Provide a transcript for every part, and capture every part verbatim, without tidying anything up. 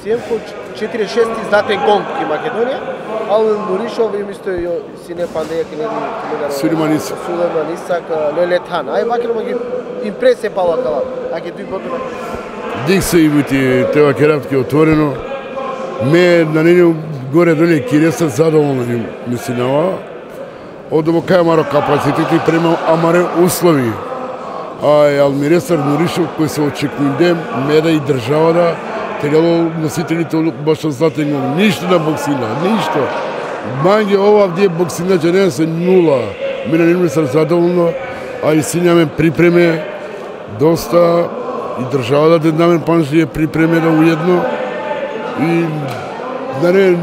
Сием по четири шест издатен гонг ки Македонија, ал Нуришов и мисто си не пандеја ки не ги Сулейман Исак. Сулейман Исак, Лелетан. Ај ваќе ги импресија пала кала. Аќе дуј ботна. Дик се и бити тева керавтки отворено. Ме на нене горе доле Киреса задоволни мислинава. Одово кај маро капацитети према амаре услови. Ај Алмиресар Нуришов кој се очекувам меда и државата требало носителите баш затегнал ништо на боксина, ништо. Манги ова вдие боксина че не се нула. Мене не ми се задоволно, а и сињаме припреме доста и државата да намен панжи е припремена уедно и да не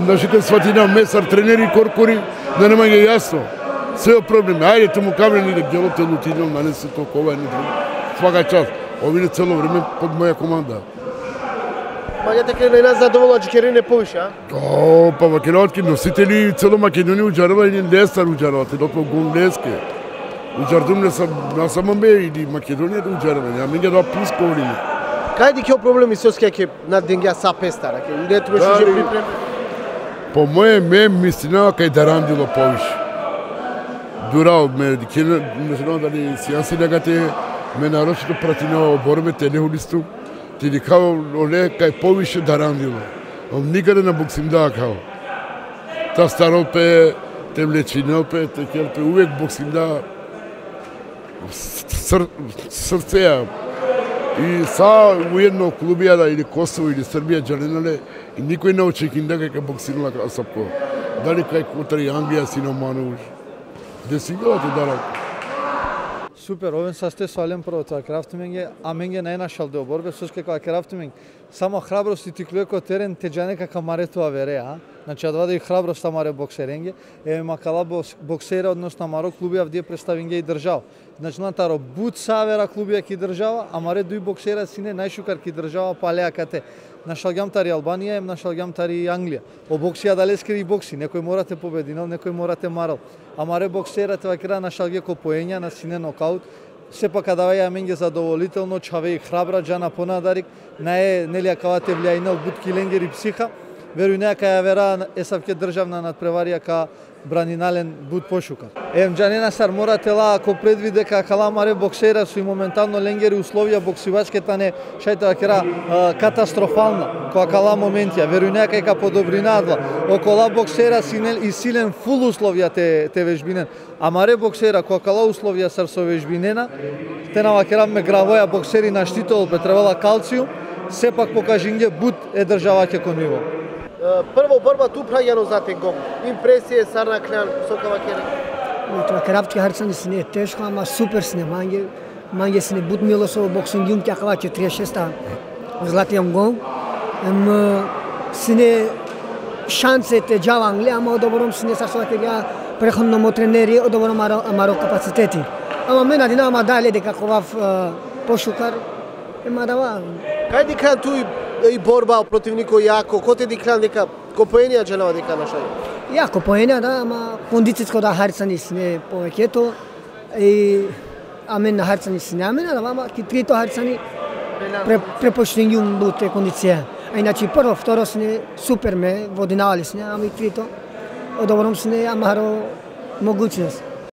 нашите сватина месар тренери коркори да нема ги јасно. Се проблеми. Ајде тому камени да делот е лутинал, на не се толкова не друго. Свака час. Овие цело време под моја команда. Маѓата ке најна задоволна че не повише, а? О, па македонски носители цело Македонија уџарува и Лестар уџарува, те дотмо гол Леске. Уџардум не сам на самом бе или Македонија да уџарува, ја меѓа да пуско време. Кај ди ке проблеми со ке на денгја са пестара, ке не тоа ше припрем. По моје ме мислина кај Дарандило повише. Дурал ме ке не знам дали сијаси негате ме нарочито пратинава борбе телехулисту. Ти ли као оле кај повише Дарандило. Он никаде на боксинда као. Та старол пе, те млечинел пе, те кел пе, увек боксинда ср, срцеја. И са уедно клубијада или Косово или Србија джаленале и никој не очекинда кај боксинала Асапко. Дали кај Котари Англија Синоманович. Де си гледате дарал? Супер, овен састе свален прво тоа крафтименге, а менге најнашал дел борбе, соске кога крафтиминг, само храброст и тиклуеко терен те джанека камаретова вере, а? Значи, адва да и храброст амаре боксеренге, е макала боксера, односно амаро клубија вдие представинге и држава. Значи, на таро буд савера клубија ки држава, амаре дуј боксера сине најшукар ки држава палеа кате. Нашалгам тари Албанија, ем нашалгам тари Англија. О боксија далескери и бокси, некој морате побединал, некој морате марал. Амаре боксера те вакира нашалге ко поења на сине нокаут. Сепак даваја менге задоволително, чаве и храбра джана понадарик, наe нелија кавате влијајнал буд киленгер и психа. Веруј неа каја вера есавке државна надпреварија ка бранинален буд пошука. Ем джанена сар морате ла ако предвиде ка каламаре боксера со и моментално ленгери условија боксивачката не шајте вакера катастрофална која кала моментија. Веруј неа кај ка подобринадла. Окола боксера синел и силен фул условија те те вежбинен. Амаре боксера која кала условија сар со вежбинена, те на вакера ме гравоја боксери на штитол пе требала калциум, сепак покажинге буд е државаќе кон ниво. Прво борба ту прајано за тенгом. Импресија сарна клян со кавакере. Това крафтки харцани си не е тешко, ама супер си не манге. Манге си не буд мило со боксингиум тя кава четири шеста златијам гол. Ем си не шансете джава Англија, ама одобором си не сарсова тега преходно тренери, одобором амаро капацитети. Ама мене дина ама дале дека ковав пошукар, ема дава. Кај ди кран ту и борба противнико јако, коте ди кран дека копоенија джанава дека нашај? Јако поенја, да, ама кондициско да харцани си не повеќето и амен на харцани си не амена, да, ама ки трито харцани препочтењум буте кондиција. А иначе прво, второ си не супер ме водинавали си не, ама и трито одобром си не амаро могуćност.